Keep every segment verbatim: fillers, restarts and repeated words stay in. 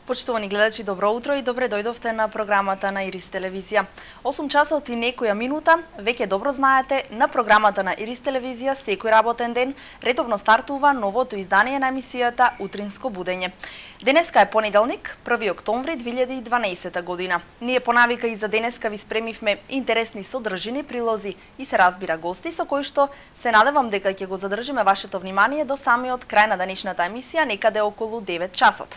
Почитувани гледачи, добро утро и добре дојдовте на програмата на Ирис телевизија. осум часот и некоја минута, веќе добро знаете, на програмата на Ирис телевизија секој работен ден редовно стартува новото издание на емисијата Утринско будење. Денеска е понеделник, први октомври две илјади и дванаесета година. Ние по навика и за денеска ви спремивме интересни содржини, прилози и се разбира гости со кои што се надевам дека ќе го задржиме вашето внимание до самиот крај на денешната емисија, некаде околу девет часот.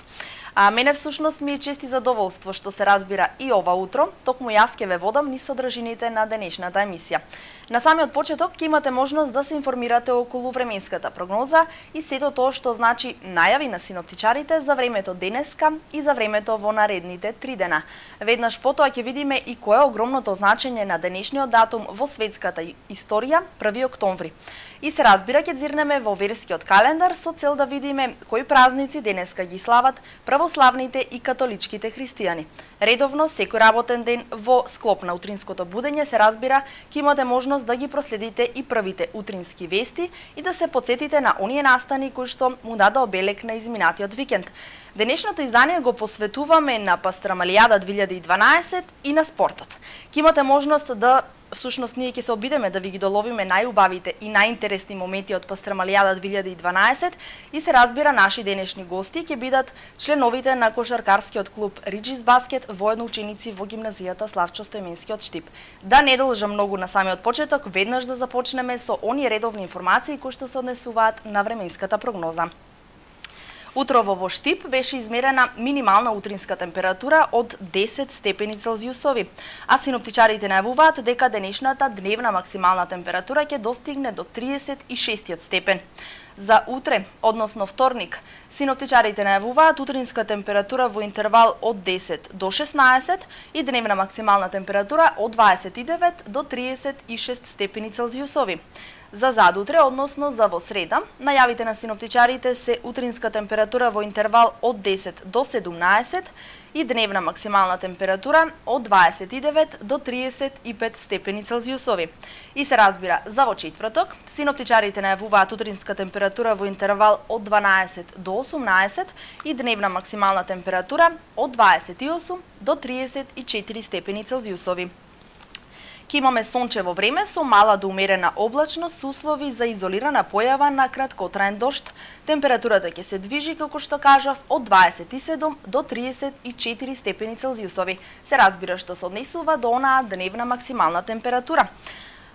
А мене всушност ми е чест и задоволство што се разбира и ова утро, токму јас ќе ве водам низ содржините на денешната емисија. На самиот почеток ќе имате можност да се информирате околу временската прогноза и сето тоа што значи најави на синоптичарите за времето денеска и за времето во наредните три дена. Веднаш потоа ќе видиме и кое е огромното значење на денешниот датум во светската историја, први октомври. И се разбира ќе зирнеме во верскиот календар со цел да видиме кои празници денеска ги слават православните и католичките христијани. Редовно секој работен ден во склоп на утринското будење се разбира ќе имате можност да ги проследите и првите утрински вести и да се потсетите на оние настани кои што му даде обелек на изминатиот викенд. Денешното издание го посветуваме на Пастрамалијада две илјади и дванаесет и на спортот. Ќе имате можност да Всушност, ние ќе се обидеме да ви ги доловиме најубавите и најинтересни моменти од Пастрамалијада две илјади и дванаесет и се разбира наши денешни гости ќе бидат членовите на кошаркарскиот клуб Риджис Баскет, воедно ученици во гимназијата Славчо Стоименски од Штип. Да не должам многу на самиот почеток, веднаш да започнеме со оние редовни информации кои што се однесуваат на временската прогноза. Утрово во Штип беше измерена минимална утринска температура од десет степени Целзиусови, а синоптичарите најавуваат дека денешната дневна максимална температура ќе достигне до триесет и шестиот степен. За утре, односно вторник, синоптичарите најавуваат утринска температура во интервал од десет до шеснаесет и дневна максимална температура од дваесет и девет до триесет и шест степени Целзиусови. За задутре, односно за во среда, најавите на синоптичарите се утринска температура во интервал од десет до седумнаесет и дневна максимална температура од дваесет и девет до триесет и пет степени Целзиусови. И се разбира, за во четврток, синоптичарите најавуваат утринска температура во интервал од дванаесет до осумнаесет и дневна максимална температура од дваесет и осум до триесет и четири степени Целзиусови. Ке имаме сончево време со мала до умерена облачност со услови за изолирана појава на краткотраен дожд. Температурата ќе се движи, како што кажав, од дваесет и седум до триесет и четири степени Целзиусови. Се разбира што се однесува до онаа дневна максимална температура.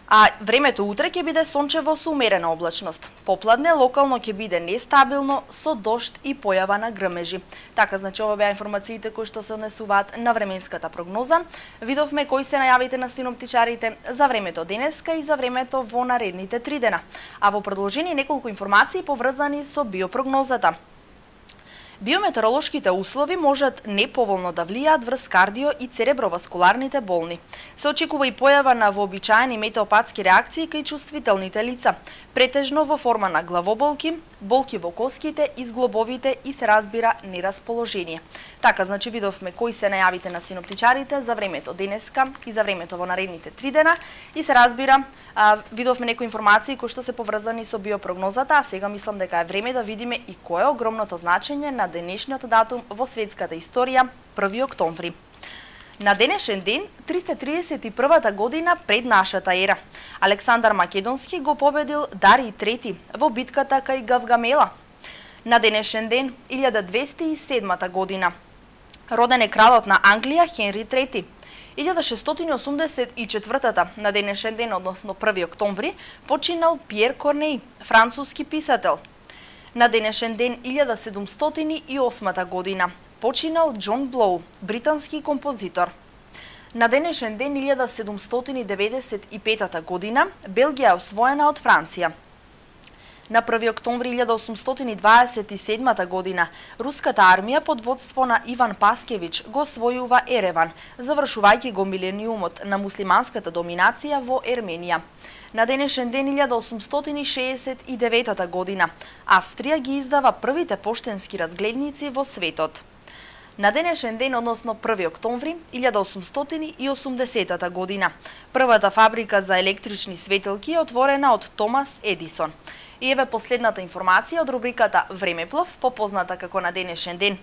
А времето утре ќе биде сончево со умерена облачност. Попладне локално ќе биде нестабилно со дожд и појава на грмежи. Така, значи, ова беа информациите кои што се однесуваат на временската прогноза. Видовме кои се најавите на синоптичарите за времето денеска и за времето во наредните три дена. А во продолжение неколку информации поврзани со биопрогнозата. Биометеоролошките услови можат неповолно да влијаат врз кардио и цереброваскуларните болни. Се очекува и појава на вообичаени метеопатски реакции кај чувствителните лица, претежно во форма на главоболки, болки во коските и зглобовите и се разбира нерасположение. Така, значи, видовме кои се најавите на синоптичарите за времето денеска и за времето во наредните три дена и се разбира, а, видовме некои информации кои што се поврзани со биопрогнозата, а сега мислам дека е време да видиме и кое е огромното значење на денешниот датум во светската историја, први октомври. На денешен ден, триста триесет и првата година пред нашата ера, Александар Македонски го победил Дарий трети во битката кај Гавгамела. На денешен ден, илјада двесте и седмата година, роден е кралот на Англија Хенри трети. илјада шестстотини и осумдесет и четвртата на денешен ден, односно први октомври, починал Пиер Корнеј, француски писател. На денешен ден, илјада седумстотини и осмата година, починал Џон Блоу, британски композитор. На денешен ден, илјада седумстотини деветдесет и петата година, Белгија е освоена од Франција. На први октомври илјада осумстотини дваесет и седмата година, руската армија под водство на Иван Паскевич го освојува Ереван, завршувајќи го милениумот на муслиманската доминација во Ерменија. На денешен ден, илјада осумстотини шеесет и деветата година, Австрија ги издава првите поштенски разгледници во светот. На денешен ден, односно први октомври илјада осумстотини и осумдесетата година, првата фабрика за електрични светилки е отворена од Томас Едисон. И еве последната информација од рубриката Времеплов, попозната како на денешен ден.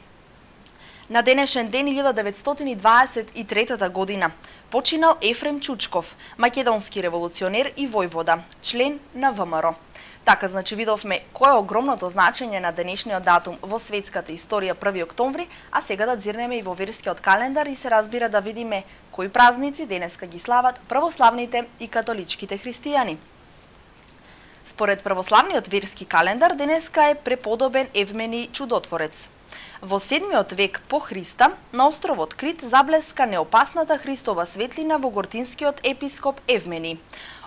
На денешен ден илјада деветстотини дваесет и трета година починал Ефрем Чучков, македонски револуционер и војвода, член на В М Р. Така, значи, видовме кој е огромното значење на денешниот датум во светската историја први октомври, а сега да дзирнеме и во верскиот календар и се разбира да видиме кои празници денеска ги слават православните и католичките христијани. Според православниот верски календар, денеска е преподобен Евмени Чудотворец. Во седмиот век по Христа, на островот Крит заблеска неопасната Христова светлина во гортинскиот епископ Евмени.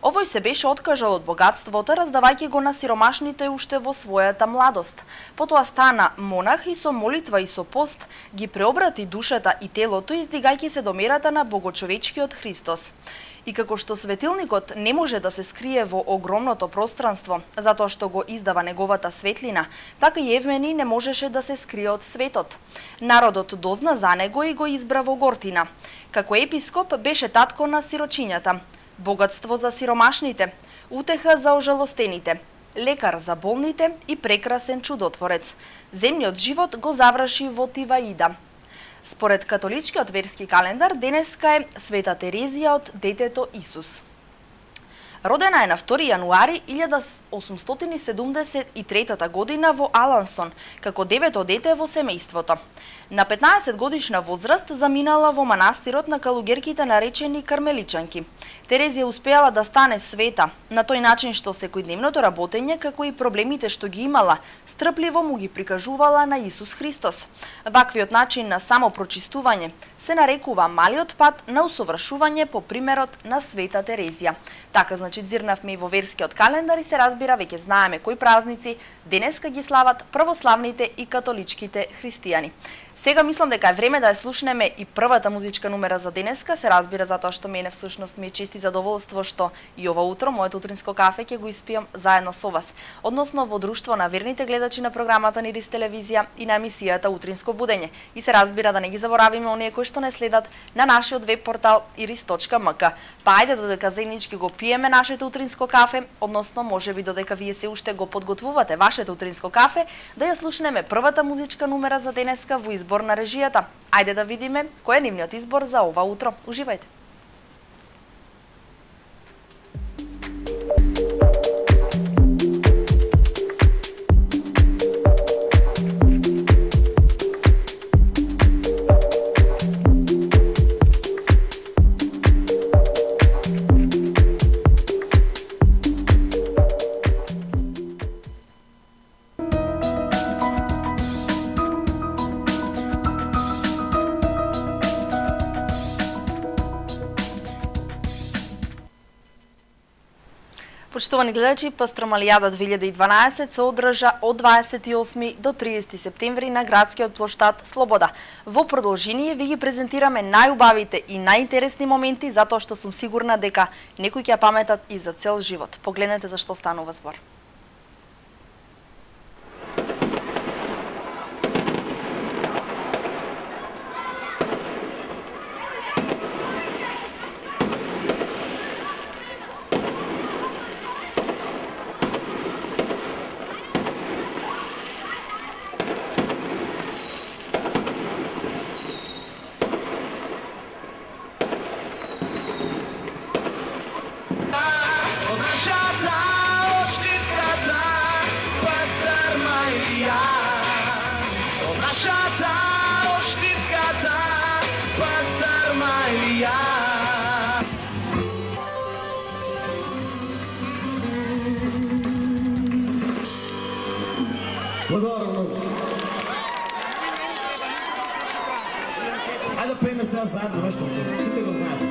Овој се беше откажал од богатството, раздавајќи го на сиромашните уште во својата младост. Потоа стана монах и со молитва и со пост ги преобрати душата и телото, издигајќи се до мерата на богочовечкиот Христос. И како што светилникот не може да се скрие во огромното пространство, затоа што го издава неговата светлина, така и Евмени не можеше да се скрие од светот. Народот дозна за него и го избра во Гортина. Како епископ беше татко на сирочињата, богатство за сиромашните, утеха за ожалостените, лекар за болните и прекрасен чудотворец. Земниот живот го заврши во Тиваида. Според католичкиот верски календар, денеска е Света Терезија од детето Исус. Родена е на втори јануари илјада осумстотини седумдесет и трета година во Алансон, како девето дете во семејството. На петнаесет годишна возраст заминала во манастирот на калугерките наречени кармеличанки. Терезија успеала да стане света, на тој начин што секојдневното работење, како и проблемите што ги имала, стрпливо му ги прикажувала на Исус Христос. Ваквиот начин на самопрочистување се нарекува малиот пат на усовршување по примерот на Света Терезија. Така, значи, дзирнавме и во верскиот календар и се разбира, веќе знаеме кои празници денеска ги слават православните и католичките христијани. Сега мислам дека е време да ја слушнеме и првата музичка номера за денеска, се разбира затоа што мене всушност ми е чест и задоволство што и ова утро моето утринско кафе ќе го испијам заедно со вас, односно во друштво на верните гледачи на програмата на Ирис телевизија и на емисијата Утринско будење. И се разбира да не ги заборавиме оние кои што не следат на нашиот веб портал ирис точка ем ка. Па ајде додека заеднички го пиеме нашето утринско кафе, односно можеби додека вие се уште го подготвувате вашето утринско кафе, да ја слушнеме првата музичка номера за денеска во избор на режијата. Ајде да видиме кој е нивниот избор за ова утро. Уживајте. Почитувани гледачи, Пастрамалијада две илјади и дванаесет се одржа од дваесет и осми до триесети септември на градскиот плоштад Слобода. Во продолжение ви ги презентираме најубавите и најинтересни моменти, затоа што сум сигурна дека некои ќе ја паметат и за цел живот. Погледнете за што станува збор. Благодарам много. Хайде да приеме сега заедно нещо, всичките го знаят.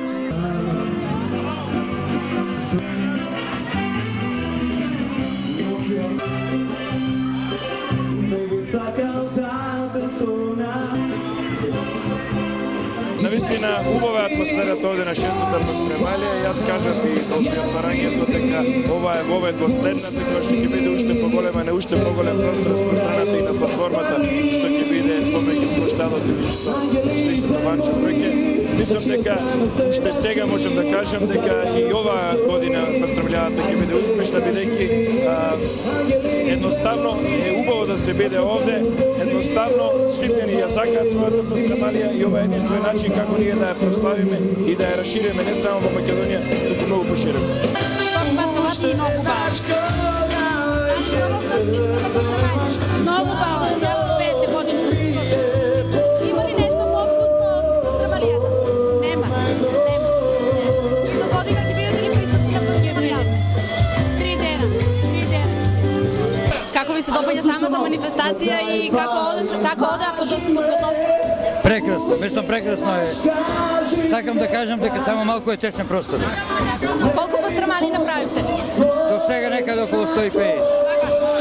Навистина убава атмосферата овде на шестата Премалија. Јас кажав и од отварањето дека ова е вова е последната, која што ќе биде уште поголема, не уште поголем простор распространата и на платформата, што ќе биде помеѓу плоштадот и личното банче веќе. мислам дека уште сега можам да кажам дека и оваа година пастрамљавата ќе биде успешна, бидејќи едноставно е убаво да се биде овде, едноставно сите ни ја сакаат својата пастрамалија и ова е единствен начин како ние да ја прославиме и да ја расшириме не само во Македонија, туку многу пошироко. Многу бава, ја петдесет години. Има ли нешто повкусно од пастрамалијата? Нема, нема. И до година ќе бидете ли присутни на пастрамалијата? Три дена, три дена. Како ви се допаѓа самата манифестација и како оде, како оде подготовка? Прекрасно, мислам прекрасно е. Сакам да кажам дека само малку е тесен простор. Колку пастрамали направивте? До сега некаде околу сто и педесет.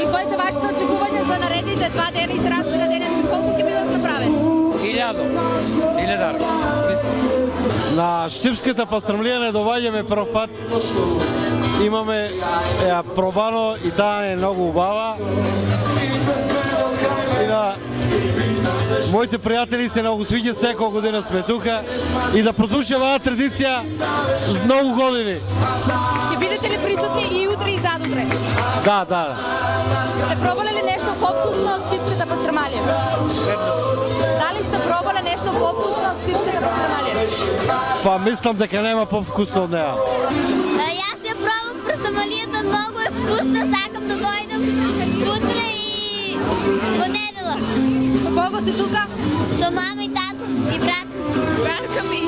И кои се вашите очекувања за наредните два дена и се разбира денеска колку ќе бидат направени? Илјадо, илјадар, мислам. На Штипската пастрамлија не доваѓаме прв пат. Имаме ја пробано и таа е многу убава. И на моите пријатели се многу свиѓа, секоја година сме тука и да продолжи оваа традиција с многу години. Ќе бидете ли присутни и утре и задутре? Да, да. Сте пробале ли нешто повкусно од Штипската пастрамалија? Дали сте пробале нешто повкусно од Штипската пастрамалија? Па мислам дека нема повкусно од неа. Јас ја пробав пастрамалијата, многу е вкусна, сакам да дојдам утре и во недела. Со кого си тука? Со мама и тато и брат. Братка ми.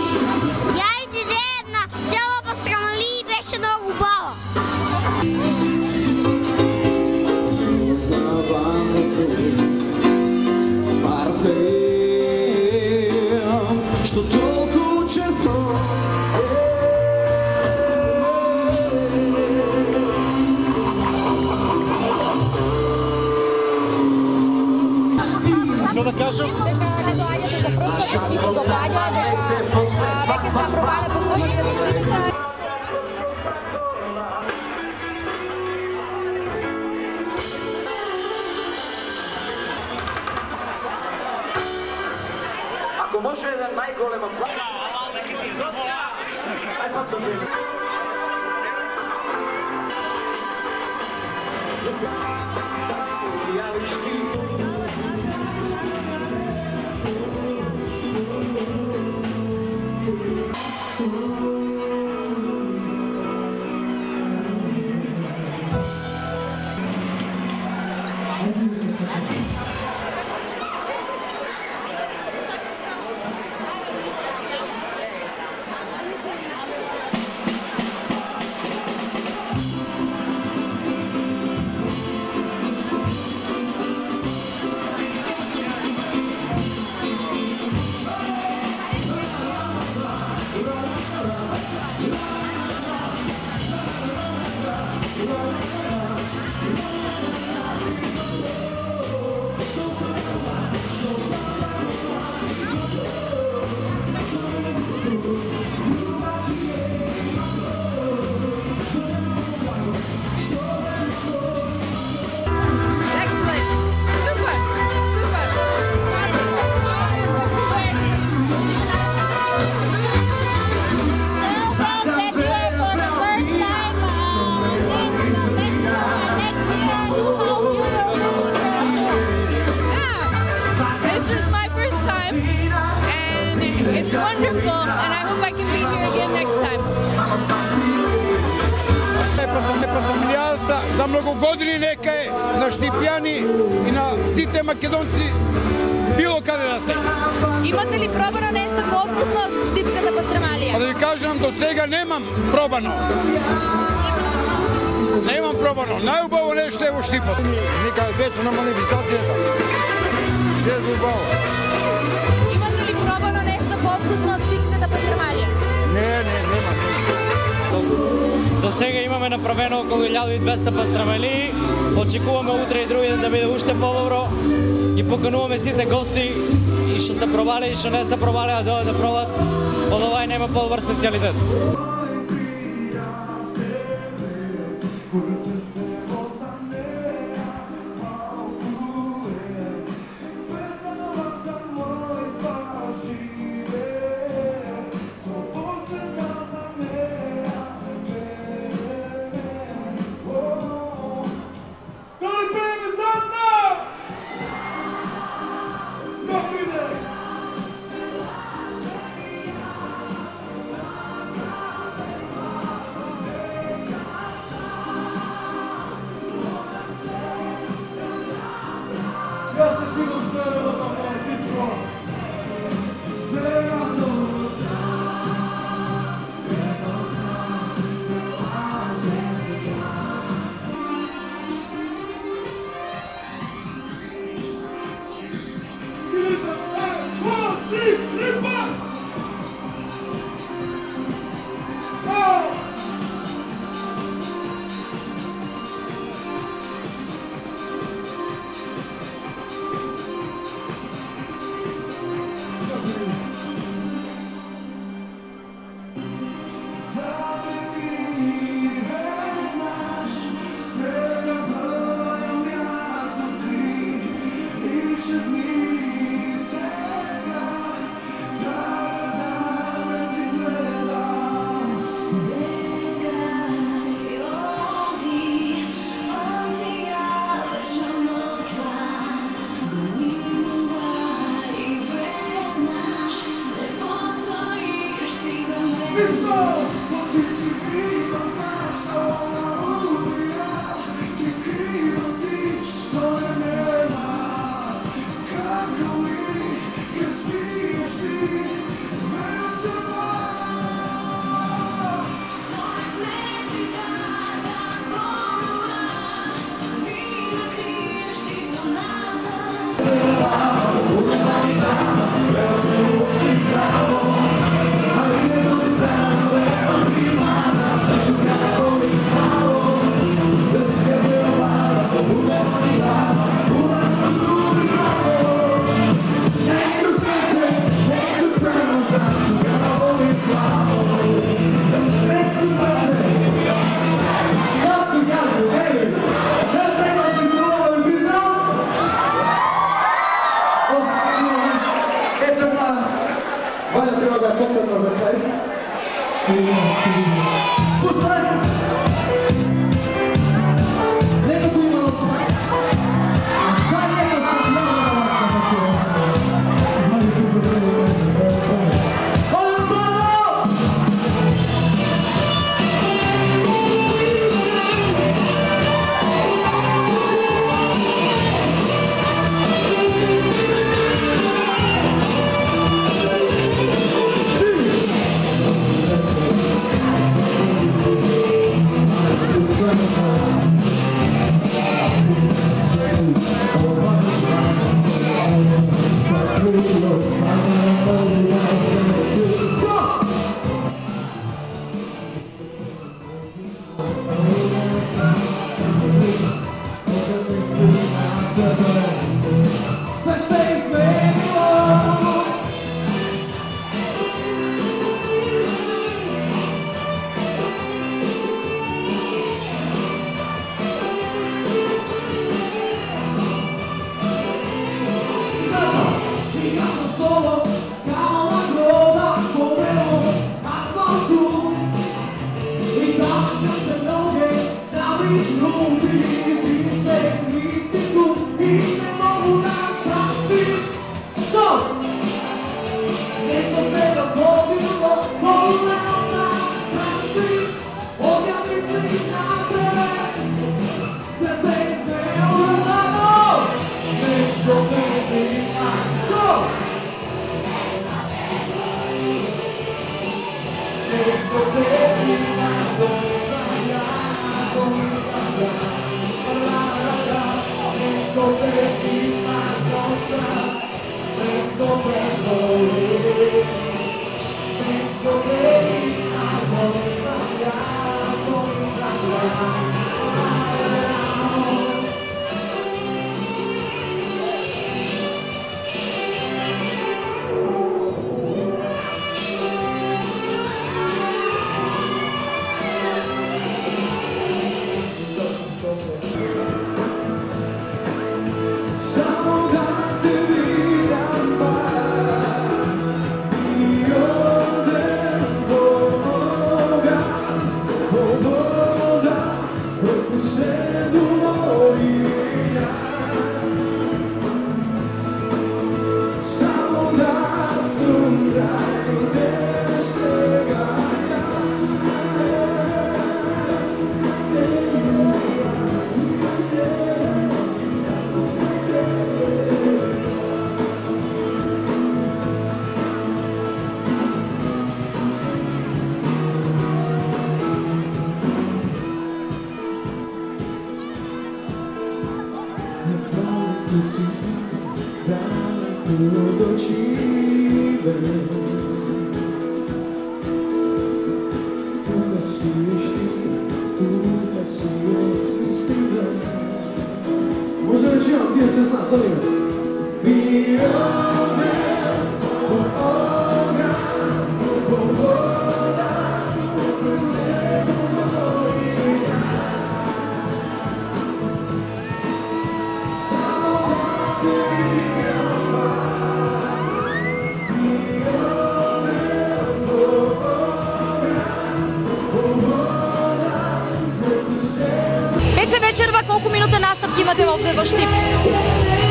Ја изиде една цела пастрамалија и беше многу убава. Што толку често Што да кажам? Дека не доаѓате за прв пат и го допаѓа дека веќе се пробале пастрамалија во Штипска. ако може да најголема плата. За многу години нека е на Штипјани и на сите македонци било каде да се. Имате ли пробано нешто повкусно од Штипската пастрамалија? А да ви кажам, до сега немам пробано. Немам пробано. Најубаво нешто е во Штипот. Нека бето на манифестацијата. Се е убаво. Имате ли пробано нешто повкусно од Штипската пастрамалија? Не, не, нема. До сега имаме направено околу илјада и двесте пастрамалии. Очекуваме утре и други ден да биде уште подобро. И покануваме сите гости и што се пробале и што не се пробале да дојдат да пробат. Од овај нема подобар специјалитет.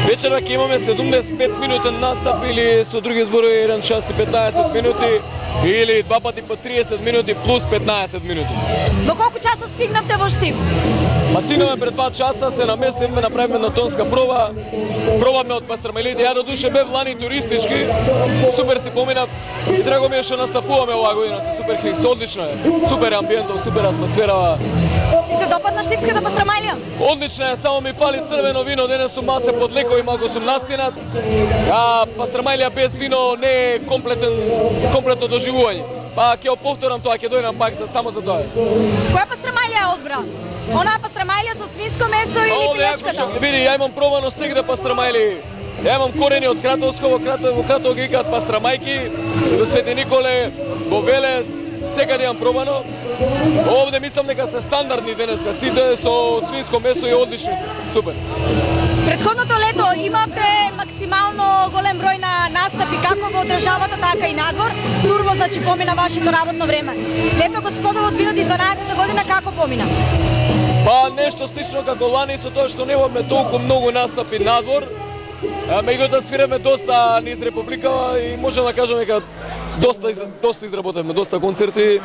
Вечера ќе имаме седумдесет и пет минутен настап или со други зборови еден час и петнаесет минути или два пати по триесет минути плюс петнаесет минути. До колку часа стигнавте во Штип? Па стигнаме пред два часа, се наместивме, направиме на тонска проба. Пробаме од пастрамелите, ја до душе бев лани туристички, супер си поминав и драго ми е што настапуваме оваа година со супер хикс, одлично е, супер амбиентот, супер атмосфера. И се допадна штипската пастрамалија? Одлично е, само ми фали црвено вино, денес сум малце подлеко и малку сум настинат. А пастрамалија без вино не е комплетен, комплетно доживување. Па ќе повторам тоа, ќе дојдам пак за само за тоа. Која пастрамалија одбра? Онаа пастрамалија со свинско месо или пилешката? Види, ја имам пробано сегде пастрамали. Ја имам корени од Кратовско, во Кратово ги викаат пастрамајки, во Свети Николе, во Велес, секаде имам пробано. Овде мислам дека се стандардни денеска, сите со свинско месо и одлични се. Супер. Претходното лето имавте максимум максимално голем број на настапи како во државата, така и надвор. Турбо, значи, помина вашето работно време. Лето господово две илјади и дванаесета година како помина? Па нешто слично како лани, со тоа што немаме толку многу настапи надвор. Меѓутоа свираме доста низ Републикава и можам да кажам дека доста доста изработевме, доста концерти.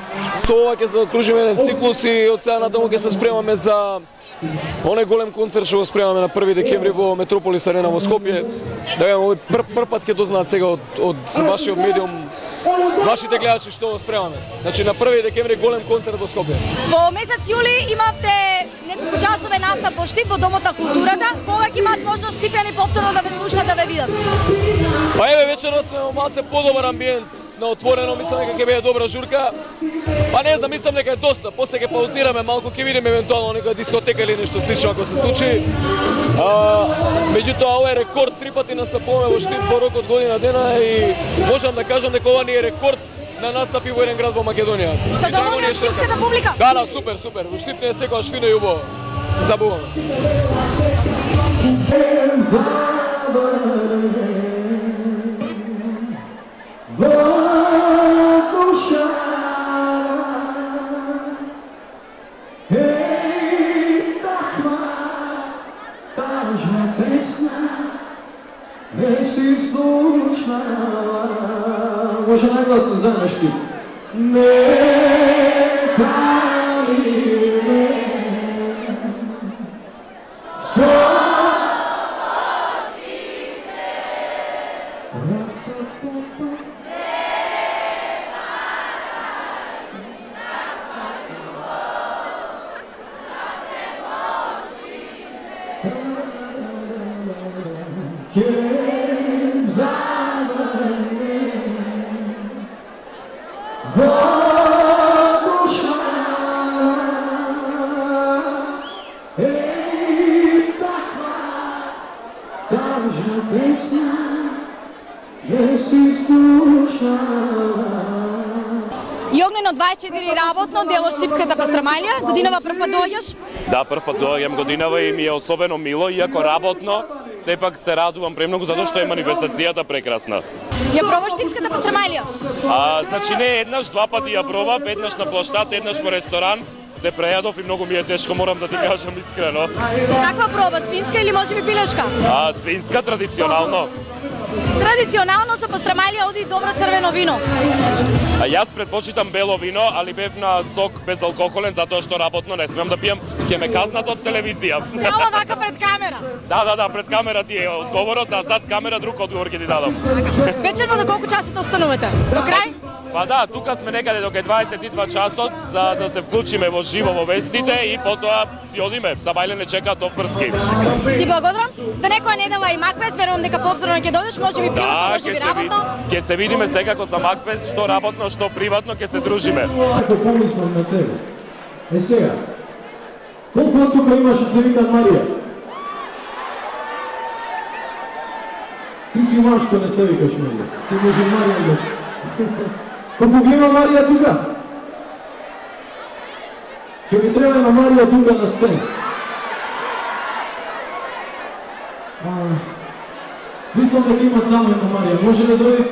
Со ова ќе закружиме еден циклус и од сега натаму ќе се спремаме за оној голем концерт што го спремаме на први декември во Метрополис Арена во Скопје. Да видам, овој прв, прв пат ќе дознаат сега од, од вашиот медиум, вашите гледачи што го спремаме. Значи на први декември голем концерт во Скопје. Во месец јули имавте неколку часове настап во Штип во Домот на културата. Повеќе имаат можност штипјани повторно да ве слушаат, да ве видат. Па еве вечерно сме во малце подобар амбиент на отворено, мислам дека ќе биде добра журка. Па не знам, мислам дека е доста. После ќе паузираме малку, ќе видиме евентуално нека дискотека или нешто слично ако се случи. А, меѓутоа ова е рекорд, три пати настапуваме во Штип во рок од година дена и можам да кажам дека ова ни е рекорд на настапи во еден град во Македонија. Задоволна штипската публика? Да, да, супер, супер. Во Штип не е секогаш фино и убаво. Се забавуваме. Може нагласно знаеш ти. Не пали ме со очите. И огнено дваесет и четири работно, дел од Штипската пастрамалија. Годинава прв пат доаѓаш? Да, прв пат доаѓам годинава и ми е особено мило, иако работно, сепак се радувам премногу затоа што е манифестацијата прекрасна. Ја пробаш Штипската пастрамалија? А, значи не еднаш, два пати ја пробав, еднаш на площад, еднаш во ресторан. Се прејадов и многу ми е тешко, морам да ти кажам искрено. Каква проба, свинска или можеби пилешка? А, свинска традиционално. Традиционално со пастрамалија оди добро црвено вино. А јас предпочитам бело вино, али бев на сок безалкохолен затоа што работно не смеам да пијам, ќе ме казнат од телевизија. Ала вака пред камера. Да, да, да, пред камера ти е одговорот, а зад камера друг одговор ќе ти дадам. Вечерно до колку часот останувате? До крај? Па да, тука сме некаде до дваесет и два часот за да се вклучиме во живо во вестите и потоа си одиме. Сабајле не чека до Врски. Ти благодарам. За некоја недела и Макфест, верувам дека повторно ќе додеш, може би приватно, да, може би работно. Ќе се видиме секако за Макфест, што работно, што приватно, ќе се дружиме. Ако помислам на тебе. Е сега, колку од тука имаш од се викат Марија? Ти си машко, не се викаш Марија. Ти може Марија да си. Колку ги има Марија тука? Ќе ми треба на Марија тука на стен. Мислам дека има таму една Марија. Може да дојде?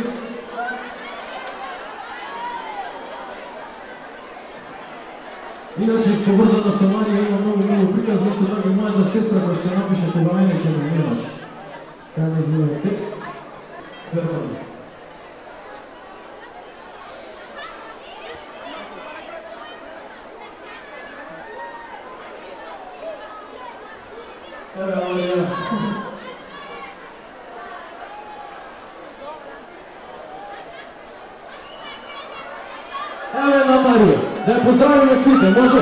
Иначе, поврзано со Марија има многу мило приказ, зашто драги мојата сестра која ќе напише кога мене ќе да немаш. Кај ме зove текст, Фермани. Еве, Марија. Еве на Марија. Да ја поздравиме сите, може?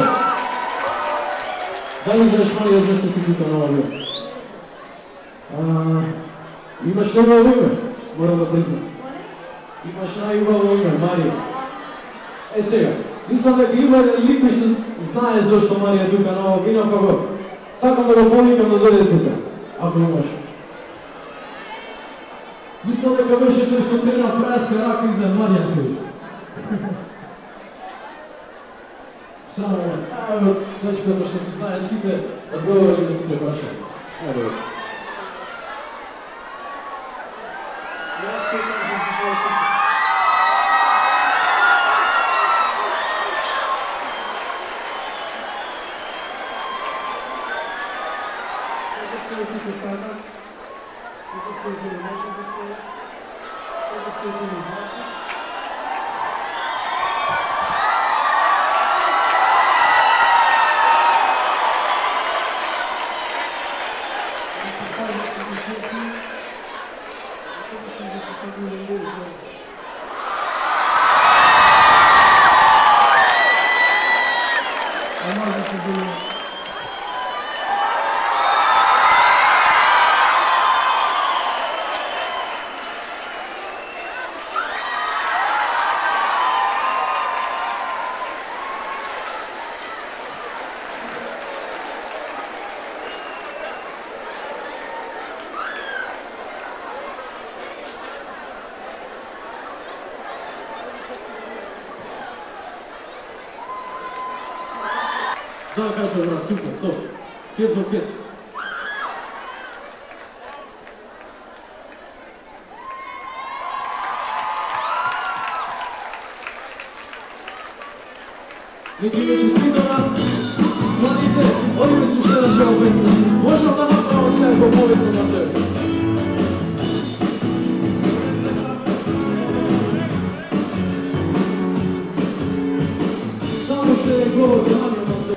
Дали знаеш, Марија, зашто си тука на овој? Имаш негово име, мора да признам. Имаш најубаво име, Марија. Е сега, мислам дека има лик кој што знае зашто Марија тука на овој вино, како сакам да го повикам да дојде тука, ако имаш. Мислам дека беше тој што трена праска рака изнад младијаци. Само, ево, дечкото што ти знае сите, одговори на сите прашања. Ево. Да, кажа, брат, супер, то. Пет за пет. Нека ви честитам младите, овие се уште на шоу песна. Можам да направам сега го повезам на тебе. Само ще е говор да намерам на тебе.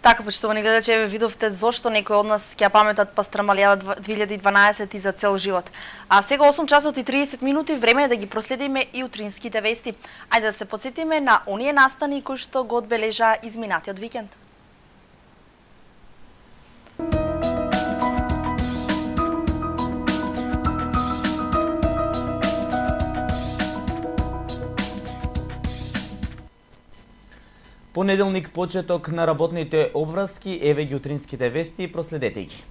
Така, почитувани гледачи, еве видовте зошто некои од нас ќе ја паметат Пастрамалијада две илјади и дванаесет и за цел живот. А сега осум часот и триесет минути, време е да ги проследиме и утринските вести. Ајде да се потсетиме на оние настани кои што го одбележаа изминатиот викенд. Понеделник почеток на работните обврски, еве ги утринските вести, проследете ги.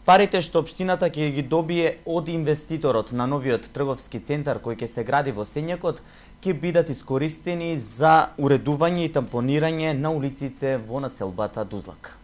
Парите што општината ќе ги добие од инвеститорот на новиот трговски центар кој ќе се гради во Сењакот, ќе бидат искористени за уредување и тампонирање на улиците во населбата Дузлак.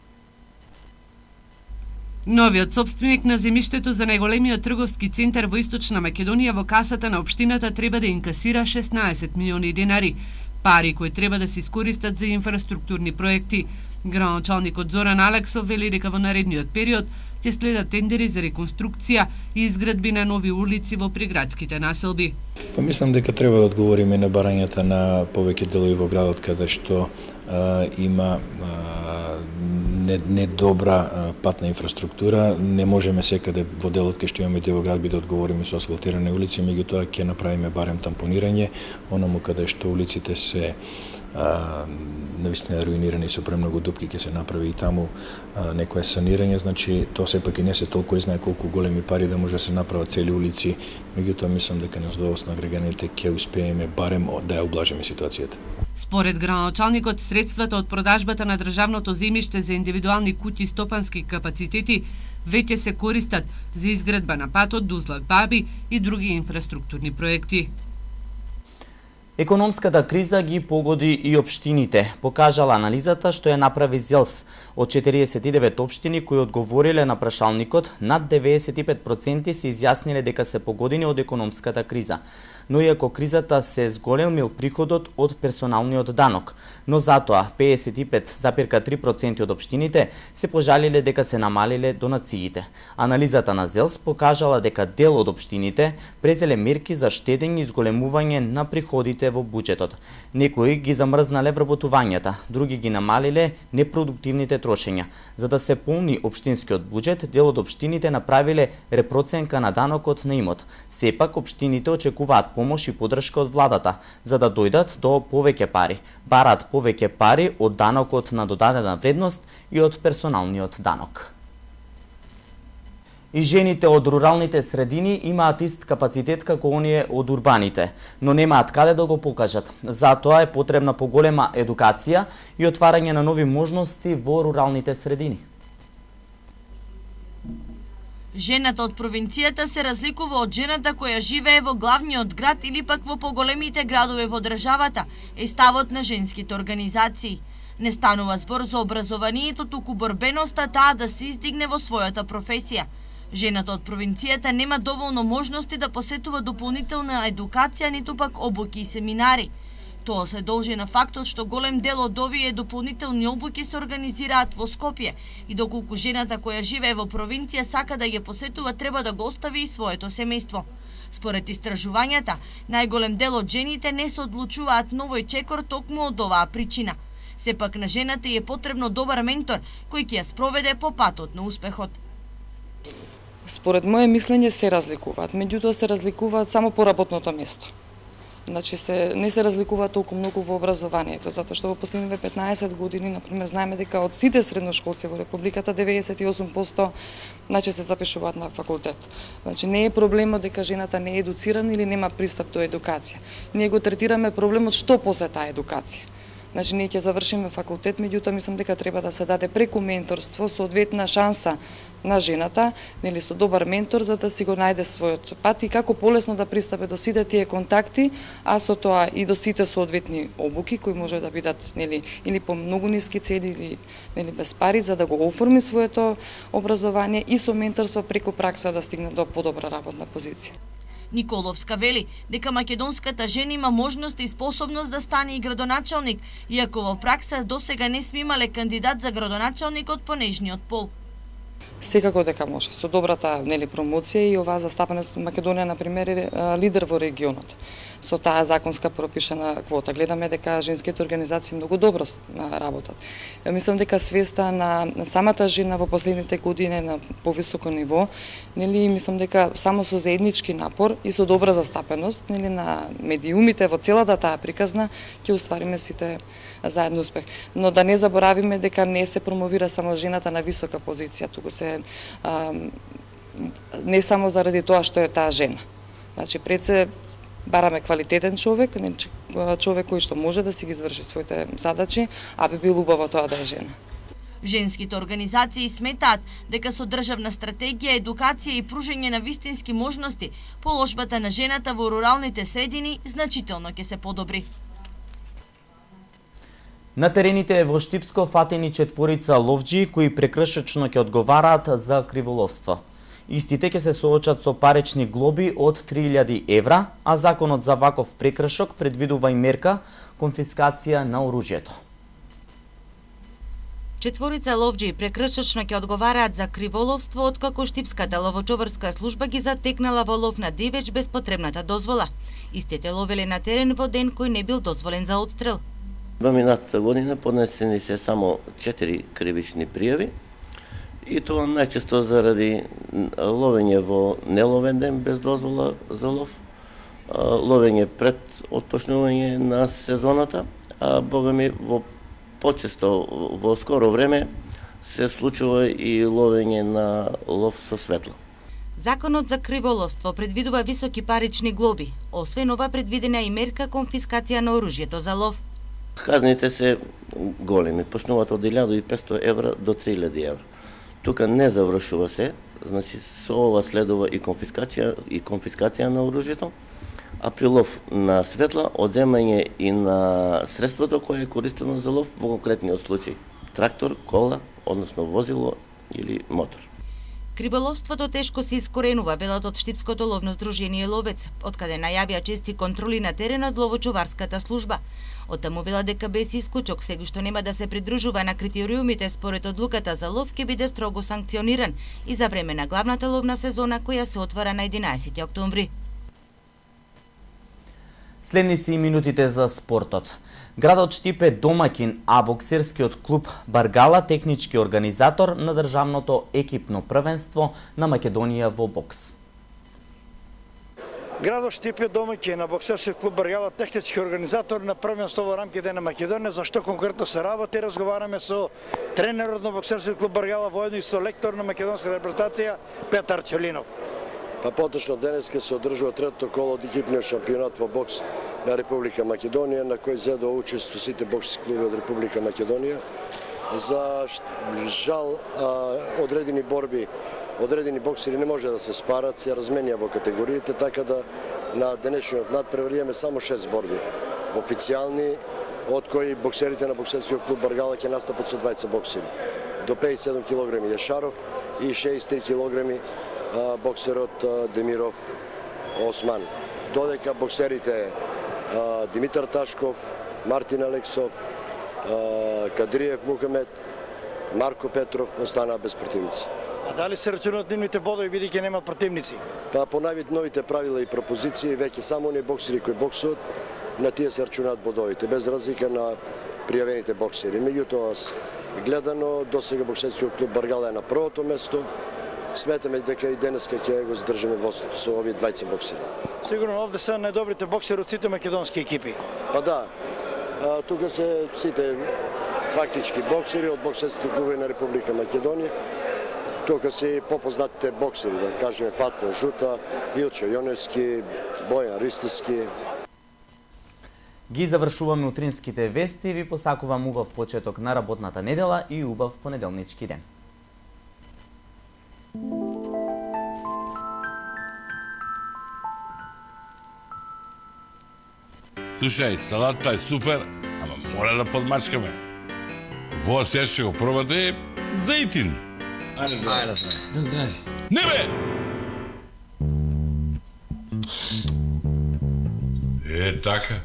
Новиот собственик на земјиштето за најголемиот трговски центар во Источна Македонија во касата на општината треба да инкасира шеснаесет милиони денари, пари кои треба да се искористат за инфраструктурни проекти. Градоначалникот Зоран Алексов вели дека во наредниот период ќе следат тендери за реконструкција и изградби на нови улици во приградските населби. Па мислам дека треба да одговориме на барањата на повеќе делови во градот каде што а, има а, недобра не патна инфраструктура. Не можеме секаде во делот кај што имаме дел град би да одговориме со асфалтирани улици, меѓутоа ќе направиме барем тампонирање, онаму каде што улиците се а, навистина руинирани со премногу дупки, ќе се направи и таму а, некое санирање, значи тоа сепак и не се толку и знае колку големи пари да може да се направат цели улици, меѓутоа мислам дека на задоволство на граѓаните ќе успееме барем да ја облажиме ситуацијата. Според градоначалникот, средствата од продажбата на државното земјиште за индивидуални куќи и стопански капацитети веќе се користат за изградба на патот Дузлак-Баби и други инфраструктурни проекти. Економската криза ги погоди и општините, покажала анализата што ја направи ЗЕЛС. Од четириесет и девет општини кои одговориле на прашалникот, над деветдесет и пет проценти се изјасниле дека се погодени од економската криза. Но иако кризата се зголемил приходот од персоналниот данок, но затоа педесет и пет зарез и три проценти од општините се пожалиле дека се намалиле донациите. Анализата на ЗЕЛС покажала дека дел од општините презеле мерки за штедење и зголемување на приходите во буџетот. Некои ги замрзнале вработувањата, други ги намалиле непродуктивните трошења. За да се полни општинскиот буџет, дел од општините направиле репроценка на данокот на имот. Сепак општините очекуваат помош и подршка од владата, за да дојдат до повеќе пари. Бараат повеќе пари од данокот на додадена вредност и од персоналниот данок. И жените од руралните средини имаат ист капацитет како оние од урбаните, но немаат каде да го покажат. Затоа е потребна поголема едукација и отварање на нови можности во руралните средини. Жената од провинцијата се разликува од жената која живее во главниот град или пак во поголемите градове во државата, е ставот на женските организации. Не станува збор за образованието, туку борбеноста таа да се издигне во својата професија. Жената од провинцијата нема доволно можности да посетува дополнителна едукација, ниту пак обуки и семинари. Тоа се должи на фактот што голем дел од овие дополнителни обуки се организираат во Скопје и доколку жената која живее во провинција сака да ги посетува, треба да го остави и своето семејство. Според истражувањата, најголем дел од жените не се одлучуваат на овој чекор токму од оваа причина. Сепак на жената е потребно добар ментор кој ќе ја спроведе по патот на успехот. Според моје мислење се разликуваат, меѓутоа се разликуваат само по работното место. Значи се не се разликуваат толку многу во образованието, затоа што во последниве петнаесет години, например, знаеме дека од сите средношколци во републиката деветдесет и осум проценти значи се запишуваат на факултет. Значи не е проблемот дека жената не е едуцирана или нема пристап до едукација. Ние го третираме проблемот што после таа едукација. Значи ние ќе завршиме факултет, меѓутоа мислам дека треба да се даде преку менторство соодветна шанса на жената, нели со добар ментор за да си го најде својот пат и како полесно да пристапе до сите тие контакти, а со тоа и до сите соодветни обуки кои може да бидат нели или по многу ниски цени или нели без пари за да го оформи своето образование и со менторство преку пракса да стигне до подобра работна позиција. Николовска вели дека македонската жена има можност и способност да стане и градоначалник, иако во пракса досега не сме имале кандидат за градоначалник од понежниот пол. Секако дека може. Со добрата нели промоција и оваа застапеност Македонија на пример е лидер во регионот. Со таа законска пропишана квота гледаме дека женските организации многу добро работат. Мислам дека свеста на самата жена во последните години на повисоко ниво, нели мислам дека само со заеднички напор и со добра застапеност нели на медиумите во целата таа приказна ќе оствариме сите заедно успех. Но да не заборавиме дека не се промовира само жената на висока позиција, туку се а, не само заради тоа што е таа жена. Значи пред се бараме квалитетен човек, човек кој што може да си ги изврши своите задачи, а би било убаво тоа да е жена. Женските организации сметаат дека со државна стратегија, едукација и пружење на вистински можности, положбата на жената во руралните средини значително ќе се подобри. На терените во Штипско фатени четворица ловџи кои прекршечно ќе одговараат за криволовство. Истите ќе се соочат со парични глоби од три илјади евра, а законот за ваков прекршок предвидува и мерка конфискација на оружјето. Четворица ловџи прекршечно ќе одговараат за криволовство откако Штипската ловочоварска служба ги затекнала во лов на дивеч без потребната дозвола. Истите ловеле на терен во ден кој не бил дозволен за одстрел. Во минатата година поднесени се само четири кривични пријави и тоа најчесто заради ловење во неловен ден без дозвола за лов, ловење пред отпочнување на сезоната, а богами во почесто во скоро време се случува и ловење на лов со светло. Законот за криволовство предвидува високи парични глоби, освен ова предвидена и мерка конфискација на оружјето за лов. Казните се големи, почнуваат од илјада и петстотини евра до три илјади евра. Тука не завршува се, значи со ова следува и конфискација и конфискација на оружјето, а при лов на светла одземање и на средството кое е користено за лов во конкретниот случај: трактор, кола, односно возило или мотор. Криволовството тешко се искоренува, велат од Штипското ловно здружение Ловец, откаде најавија чести контроли на теренот ловочоварската служба. Оттаму вела дека без исклучок сега што нема да се придружува на критериумите според одлуката за лов ќе биде строго санкциониран и за време на главната ловна сезона која се отвара на единаесети октомври. Следни се и минутите за спортот. Градот Штип е домаќин, а боксерскиот клуб Баргала технички организатор на државното екипно првенство на Македонија во бокс. Градот Штип е домаќин на боксерски клуб Барјала, технички организатор на првенство во рамките на Македонија. За што конкретно се работи, разговараме со тренерот на боксерски клуб Барјала, воедно и со лектор на македонска репрезентација Петар Ќелинов. Па поточно денеска се одржува третото коло од екипниот шампионат во бокс на Република Македонија, на кој зедо учество сите боксерски клуби од Република Македонија. За жал, одредени борби, одредени боксери не може да се спарат, се разменија во категориите, така да на денешниот надпревар имаме само шест борби официјални, од кои боксерите на боксерскиот клуб Баргала ќе настапат со двајца боксери. До пеесет и седум килограми Јашаров и шеесет и три килограми боксерот Демиров Осман. Додека боксерите Димитар Ташков, Мартин Алексов, Кадриев Мухамед, Марко Петров останаа без противници. А дали се рачунат нивните бодови бидејќи нема противници? Па по новите правила и пропозиции веќе само оние боксери кои боксуваат на тие се рачунаат бодовите без разлика на пријавените боксери. Меѓутоа гледано досега боксерскиот клуб Баргала е на првото место. Сметаме дека и денеска ќе го задржиме водството со овие двајца боксери. Сигурно овде се најдобрите боксери од сите македонски екипи. Па да. А, тука се сите фактички боксери од боксерските клуби на Република Македонија. Тука се попознатите боксери, да кажеме Фатмо Жута, Илчо Јоневски, Бојан Ристевски. Ги завршуваме утринските вести, ви посакувам убав почеток на работната недела и убав понеделнички ден. Слушај, салатата е супер, ама мора да подмачкаме. Во сега ќе го пробате зејтин. Ајде, Ајде, здрави. Здрави. Не бе! Е, така.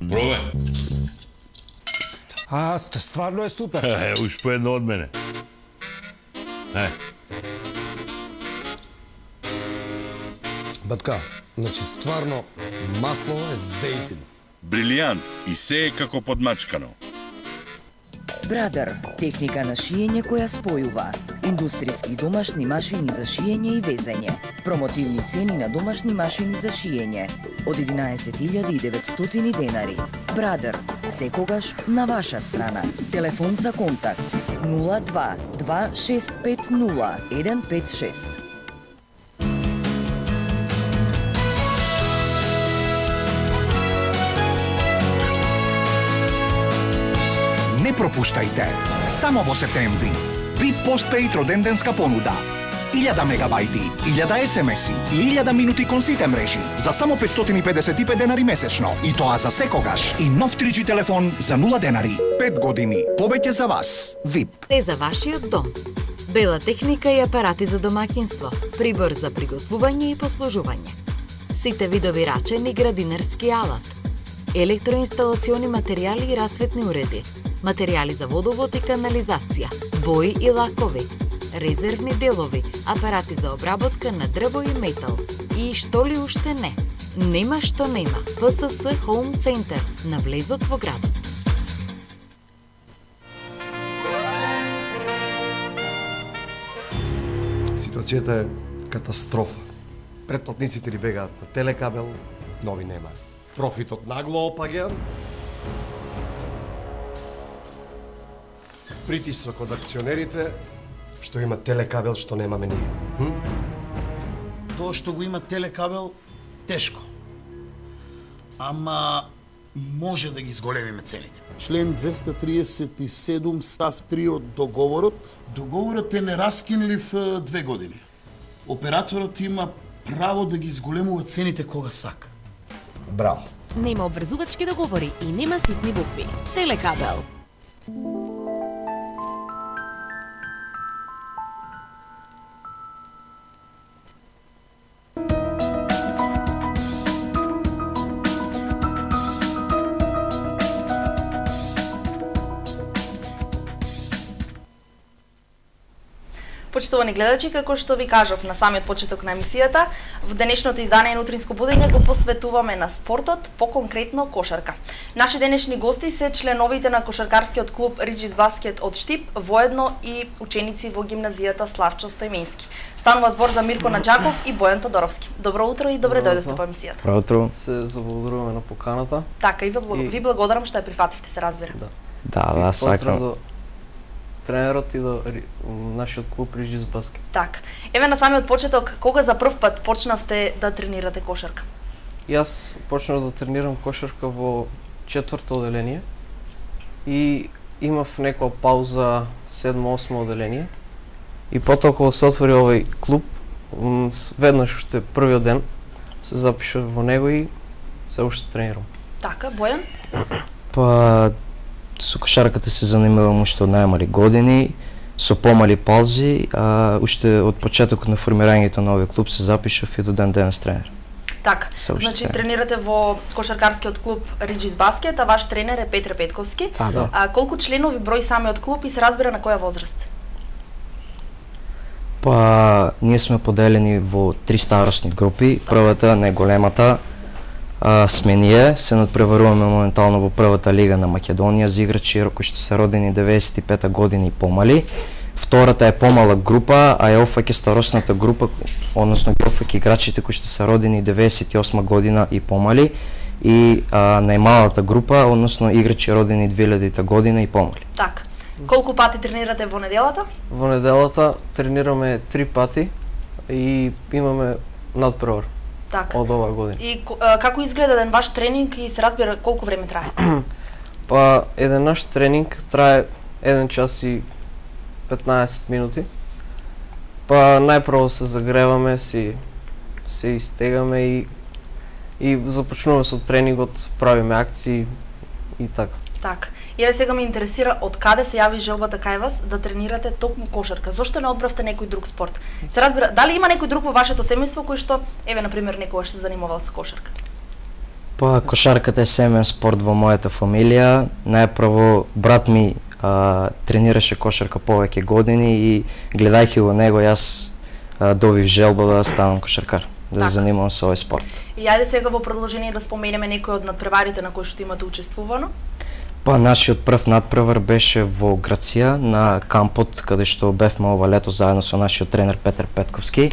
Пробај. А, стварно е супер. Е, уж по едно од мене. Е. Батка, значи стварно масло е зејтин. Брилијант и се е како подмачкано. Брадер, техника на шиење која спојува. Индустријски домашни машини за шиење и везење. Промотивни цени на домашни машини за шиење. Од единаесет илјади и деветстотини денари. Брадер, секогаш на ваша страна. Телефон за контакт нула два два шест пет нула еден пет шест. Не пропуштајте! Само во септември. Вип постпейд роденденска понуда. илјада мегабајти, илјада есемеси и илјада минути кон сите мрежи за само петстотини и педесет и пет денари месечно. И тоа за секогаш. И нов три џи телефон за нула денари. пет години. Повеќе за вас. Вип. Те за вашиот дом. Бела техника и апарати за домаќинство. Прибор за приготвување и послужување. Сите видови рачен и градинарски алат. Електроинсталациони материјали и расветни уреди. Материјали за водовод и канализација, бои и лакови, резервни делови, апарати за обработка на дрво и метал. И што ли уште не? Нема што нема. Пе Ес Ес Home Center на влезот во градот. Ситуацијата е катастрофа. Претплатниците ли бегаат на телекабел, нови нема. Профитот нагло опаѓа. Притисок од акционерите, што има телекабел, што немаме ние. Hm? Тоа што го има телекабел, тешко. Ама може да ги зголемиме цените. Член двеста триесет и седум став три од договорот. Договорот е нераскинлив две години. Операторот има право да ги зголемува цените кога сака. Браво. Нема обврзувачки договори и нема ситни букви. Телекабел. Почитувани гледачи, како што ви кажав на самиот почеток на емисијата, во денешното издание на Утринско будење го посветуваме на спортот, поконкретно кошарка. Наши денешни гости се членовите на кошаркарскиот клуб Риџис Баскет од Штип, воедно и ученици во гимназијата Славчо Стојменски. Станува збор за Мирко Наџаков и Бојан Тодоровски. Добро утро и добре дојдовте по емисијата. Добро утро. Се заблагодаруваме на поканата. Така и ви, благ... и... ви благодарам што ја прифативте, се разбира. Да, да, да сакам. До тренерот и до нашиот клуб Риџис Баскет. Така. Еве на самиот почеток, кога за прв пат почнавте да тренирате кошарка? Јас почнав да тренирам кошарка во четврто оделение и имав некоја пауза седмо-осмо оделение. И потоа кога се отвори овој клуб, веднаш уште првиот ден се запишав во него и се уште тренирам. Така, Бојан? Па со кошарката се занимавам уште од најмали години, со помали паузи, а уште од почетокот на формирањето на овој клуб се запишав и до ден денес тренер. Така, значи тренирате во кошаркарскиот клуб Риџис Баскет, а ваш тренер е Петре Петковски. Да. А колку членови број самиот клуб и се разбира на која возраст? Па, ние сме поделени во три старосни групи. Првата, најголемата, сме ние, се надпреваруваме моментално во првата лига на Македонија за играчи кои што се родени деветдесет и пета година и помали. Втората е помала група, а ја опфаќа старосната група, односно ги опфаќа играчите кои што се родени деветдесет и осма година и помали. И а, најмалата група, односно играчи родени две илјадета година и помали. Така. Колку пати тренирате во неделата? Во неделата тренираме три пати и имаме надпревар. Така. Од оваа година. И а, како изгледа еден ваш тренинг и се разбира колку време трае? Па еден наш тренинг трае еден час и петнаесет минути. Па најпрво се загреваме, си се истегаме и и започнуваме со тренингот, правиме акции и така. Така. И еве сега ме интересира од каде се јави желбата кај вас да тренирате токму кошарка. Зошто не одбравте некој друг спорт? Се разбира, дали има некој друг во вашето семејство кој што еве на пример некогаш се занимавал со кошарка? Па кошарката е семеен спорт во мојата фамилија. Најпрво брат ми а, тренираше кошарка повеќе години и гледајќи во него јас а, добив желба да станам кошаркар, да се занимавам со овој спорт. И ајде сега во продолжение да споменеме некои од надпреварите на кои што имате учествувано. Па нашиот прв надпревар беше во Грација на кампот каде што бевме ова лето заедно со нашиот тренер Петар Петковски.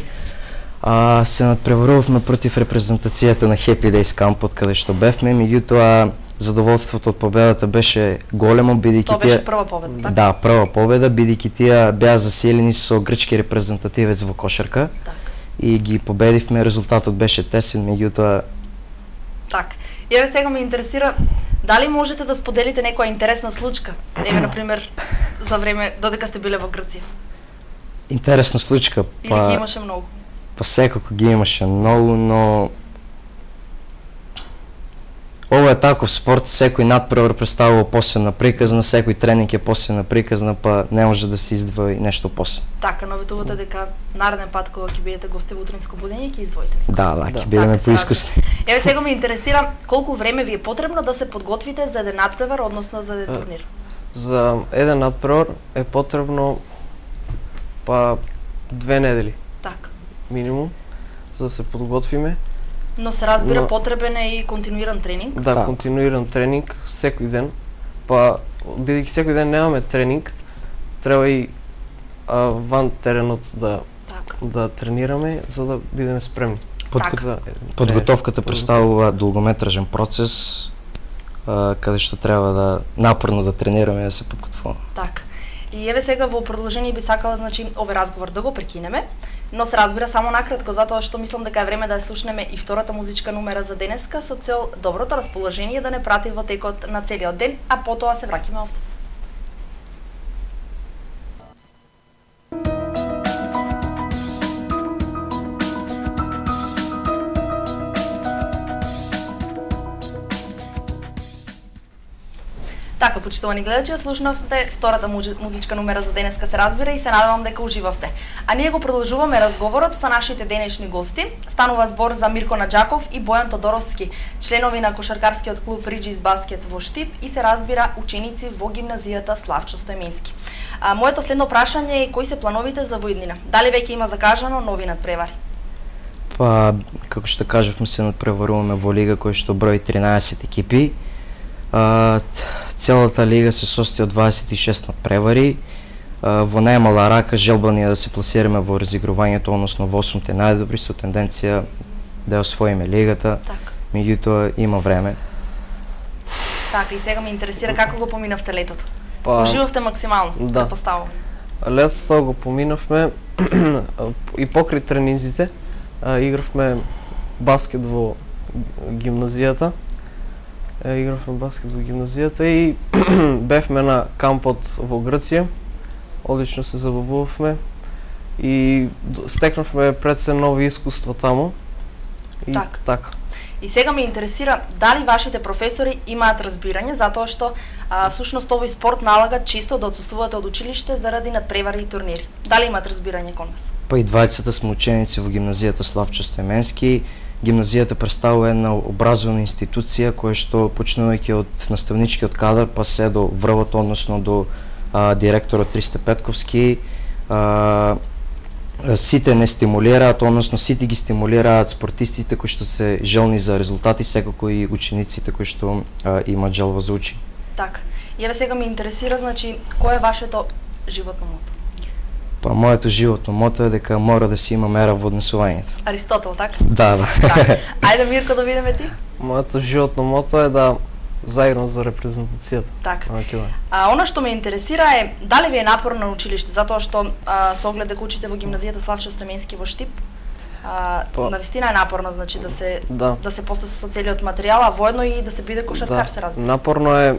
А, се надпреварувавме против репрезентацијата на Happy Days кампот каде што бевме, меѓутоа задоволството од победата беше големо бидејќи тоа беше прва победа, така? Да, прва победа бидејќи тие беа заселени со грчки репрезентативец во кошарка. Так. И ги победивме, резултатот беше тесен, меѓутоа така. И еве сега ме интересира дали можете да споделите некоја интересна случка? Еве на пример за време додека сте биле во Грција. Интересна случка, па или ги имаше многу? Па секако ги имаше многу, но ова е таков спорт, секој надпревар представува посебна приказна, секој тренинг е посебна приказна, па не може да се издвои нешто посебно. Така, наветувате дека нареден пат кога ќе бидете гости во Утринско будење ќе издвоите. Да, да, ќе бидеме поискусни. Еве сега ме интересира колку време ви е потребно да се подготвите за еден надпревар, односно за еден турнир? За еден надпревар е потребно па две недели. Така. Минимум за да се подготвиме. Но се разбира Но... потребен е и континуиран тренинг. Да, континуиран тренинг секој ден. Па бидејќи секој ден немаме тренинг, треба и а, ван теренот да так. да тренираме за да бидеме спремни. Подго... За... Подготовката представува долгометражен процес а, каде што треба да напорно да тренираме да се подготвуваме. Така. И еве сега во продолжение би сакала значи овој разговор да го прекинеме, но се разбира само накратко затоа што мислам дека е време да ја слушнеме и втората музичка номера за денеска со цел доброто расположение да не прати во текот на целиот ден, а потоа се враќаме овде. Така, почитувани гледачи, слушнавте втората музичка номера за денеска се разбира и се надевам дека уживавте. А ние го продолжуваме разговорот со нашите денешни гости. Станува збор за Мирко Наџаков и Бојан Тодоровски, членови на кошаркарскиот клуб Риџис Баскет во Штип и се разбира ученици во гимназијата Славчо Стојменски. А, моето следно прашање е кои се плановите за во иднина? Дали веќе има закажано нови надпревари? Па, како што кажавме, се надпреваруваме во лига која што брои тринаесет екипи. А, целата лига се состои од дваесет и шест надпревари. А, во најмала рака желба ни е да се пласираме во разигрувањето, односно во осумте најдобри, со тенденција да ја освоиме лигата. Так. Меѓутоа има време. Така, и сега ме интересира како го поминавте летото. Па, Уживавте максимално, да. Поставам. Летото го поминавме и покрај тренинзите. А, игравме баскет во гимназијата. А, игравме баскет во гимназијата и бевме на кампот во Грција. Одлично се забавувавме и стекнавме пред се нови искуства таму. И так. така. И сега ме интересира дали вашите професори имаат разбирање затоа што а, всушност овој спорт налага често да отсуствувате од училиште заради надпревари и турнири. Дали имаат разбирање кон вас? Па и двајцата сме ученици во гимназијата Славчо Стојменски. Гимназијата представува една образовна институција која што почнувајќи од наставничкиот кадар па се до врвот, односно до а, директорот Ристе Петковски, а, сите не стимулираат, односно сите ги стимулираат спортистите кои што се желни за резултати, секако и учениците кои што а, имаат желба за учење. Така. И еве сега ме интересира, значи, кој е вашето животно мото? Па моето животно мото е дека мора да се има мера во однесувањето. Аристотел, така? Да, да. Так. Ајде Мирко да видиме ти. Моето животно мото е да заиграм за репрезентацијата. Така. А она што ме интересира е дали ви е напорно на училиште, затоа што а, со оглед дека учите во гимназијата Славчо Стојменски во Штип, а, па, навистина е напорно, значи да се да, да се постаси со целиот материјал, а воедно и да се биде кошаркар, да, се разбира. Напорно е,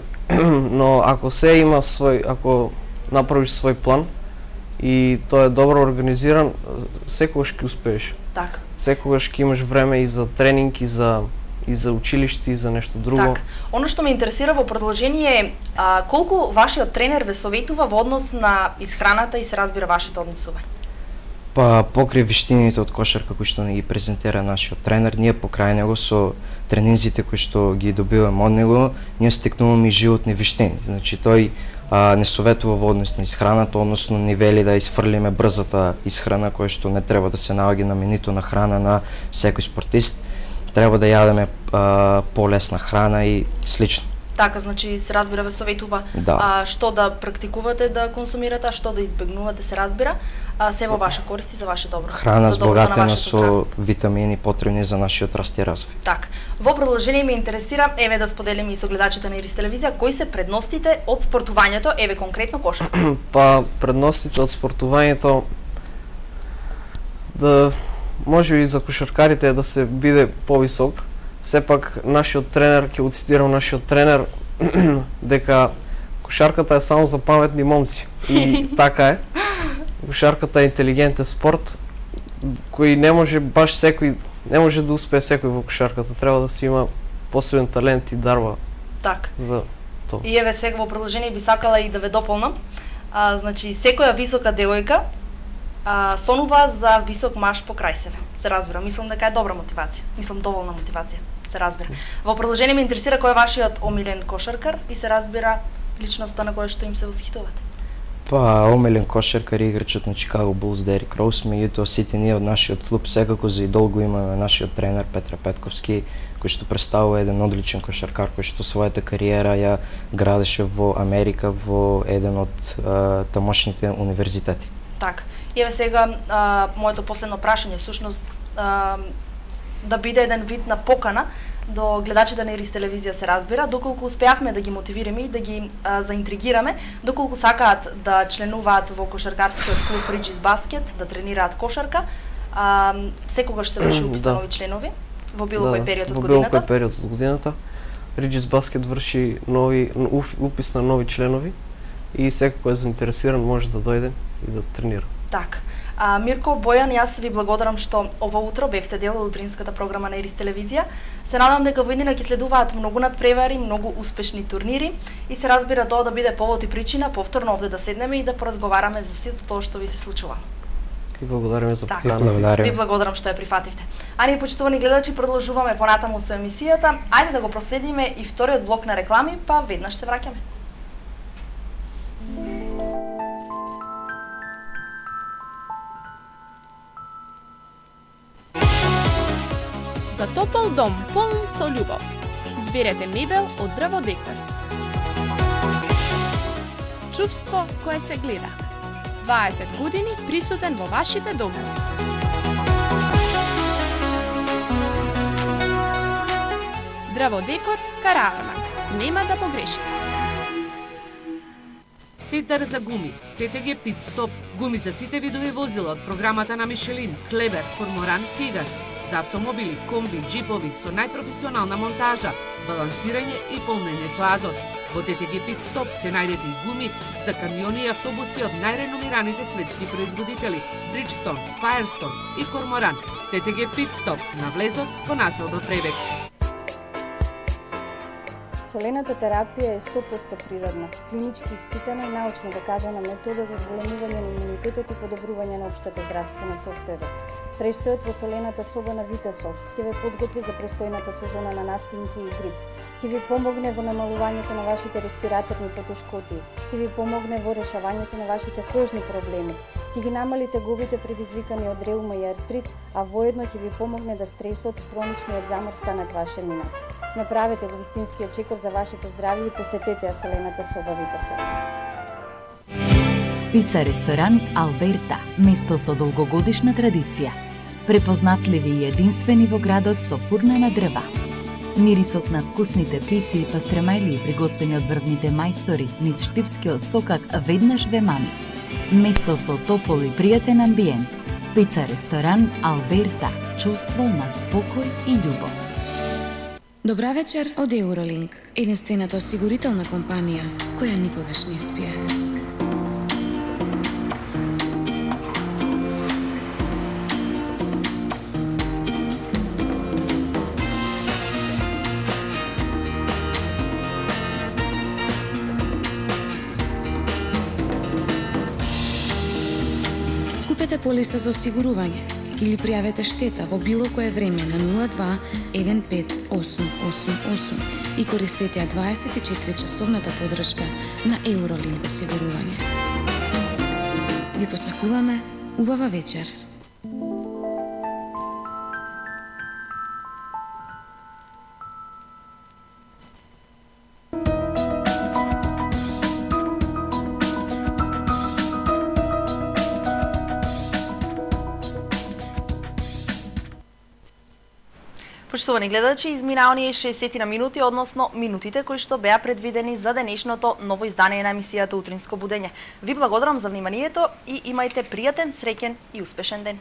но ако се има свој, ако направиш свој план и тој е добро организиран, секогаш ќе успееш. Така. Секогаш ќе имаш време и за тренинг, и за и за училиште, и за нешто друго. Так. Оно што ме интересира во продолжение е а, колку вашиот тренер ве советува во однос на исхраната и се разбира вашето однесување? Па покрај виштините од кошарка кои што не ги презентира нашиот тренер, ние покрај него со тренинзите кои што ги добиваме од него, ние стекнуваме и животни виштини. Значи тој а, не советува во однос на исхраната, односно не вели да исфрлиме брзата исхрана која што не треба да се наоѓа на менито на храна на секој спортист. Треба да јадеме а, полесна храна и слично. Така, значи се разбира ве советува да. а, што да практикувате да консумирате, а што да избегнувате, се разбира, а, се во ваша корист и за ваше добро. Храна за збогатена со витамини потребни за нашиот раст и развој. Так, во продолжение ме интересира, еве да споделиме и со гледачите на Ирис телевизија, кои се предностите од спортувањето, еве конкретно кошарка? Па предностите од спортувањето да може и за кошаркарите е да се биде повисок. Сепак нашиот тренер, ќе го цитирам нашиот тренер, дека кошарката е само за паметни момци. И така е. Кошарката е интелигентен спорт кој не може баш секој, не може да успее секој во кошарката. Треба да се има посебен талент и дарба. Так. За тоа. И еве сега во продолжение би сакала и да ве дополнам. А, значи секоја висока девојка а, сонува за висок маж покрај себе. Се разбира, мислам дека е добра мотивација. Мислам доволна мотивација. Се разбира. Во продолжение ме интересира кој е вашиот омилен кошаркар и се разбира личноста на која што им се восхитувате. Па, омилен кошаркар е играчот на Чикаго Булс Дерик Роуз, меѓутоа сите ние од нашиот клуб секако за идол го имаме нашиот тренер Петре Петковски, кој што представува еден одличен кошаркар кој што својата кариера ја градеше во Америка во еден од а, тамошните универзитети. Так. И еве сега а, моето последно прашање всушност а, да биде еден вид на покана до гледачите на Ирис телевизија, се разбира, доколку успеавме да ги мотивираме и да ги а, заинтригираме, доколку сакаат да членуваат во кошаркарскиот клуб Риджис Баскет, да тренираат кошарка, а, секогаш се врши упис на нови членови во било кој период од годината. Во било кој период од годината. Риджис Баскет врши нови упис на нови членови и секој кој е заинтересиран може да дојде и да тренира. Так. А, Мирко, Бојан, јас ви благодарам што ова утро бевте дел од утринската програма на Ирис телевизија. Се надевам дека во иднина ќе следуваат многу надпревари, многу успешни турнири и се разбира тоа да биде повод и причина повторно овде да седнеме и да поразговараме за сето тоа што ви се случува. И благодариме за поканата. Благодарим. Ви благодарам што ја прифативте. А ние, почитувани гледачи, продолжуваме понатаму со емисијата. Ајде да го проследиме и вториот блок на реклами, па веднаш се враќаме. за топол дом полн со љубов. Изберете мебел од Дрво Декор. Чувство кое се гледа. дваесет години присутен во вашите домови. Дрво Декор, Караармак. Нема да погрешите. Центар за гуми, Т Т Г Пит Стоп, гуми за сите видови возила од програмата на Мишелин, Клебер, Корморан, Пегас, за автомобили, комби, джипови со најпрофесионална монтажа, балансирање и полнење со азот. Во Т Т Г Пит Стоп те најдете и гуми за камиони и автобуси од најреномираните светски производители Bridgestone, Firestone и Корморан. Т Т Г Пит Стоп на влезот по населба Пребег. Солената терапија е сто проценти природна, клинички испитана и научно докажана метода за зголемување на имунитетот и подобрување на општата здравствена состојба. Престојот во солената соба на Витасол ќе ве подготви за престојната сезона на настимки и грип. Ќе ви помогне во намалувањето на вашите респираторни потешкоти, ќе ви помогне во решавањето на вашите кожни проблеми, ќе ги намали тегобите предизвикани од реума и артрит, а воедно ќе ви помогне да стресот, хроничниот замор станат ваше минато. Направете го вистинскиот чекор за вашето здравје и посетете ја солената соба Витасол. Пица ресторан Алберта, место со долгогодишна традиција. Препознатливи и единствени во градот со фурна на дрва. Мирисот на вкусните пици и пастремајли приготвени од врвните мајстори низ штипскиот сокак веднаш ве мами. Место со топол и пријатен амбиент. Пица ресторан Алберта, чувство на спокој и љубов. Добра вечер од Евролинк, единствената осигурителна компанија која никогаш не спие. Купете полиса за осигурување или пријавете штета во било кое време на нула два еден пет осум осум осум и користете ја дваесет и четири часовната поддршка на Евролинк осигурување. Ви посакуваме убава вечер. Почитувани гледачи, измина оние шеесет на минути, односно минутите кои што беа предвидени за денешното ново издание на емисијата Утринско будење. Ви благодарам за вниманието и имајте пријатен, среќен и успешен ден.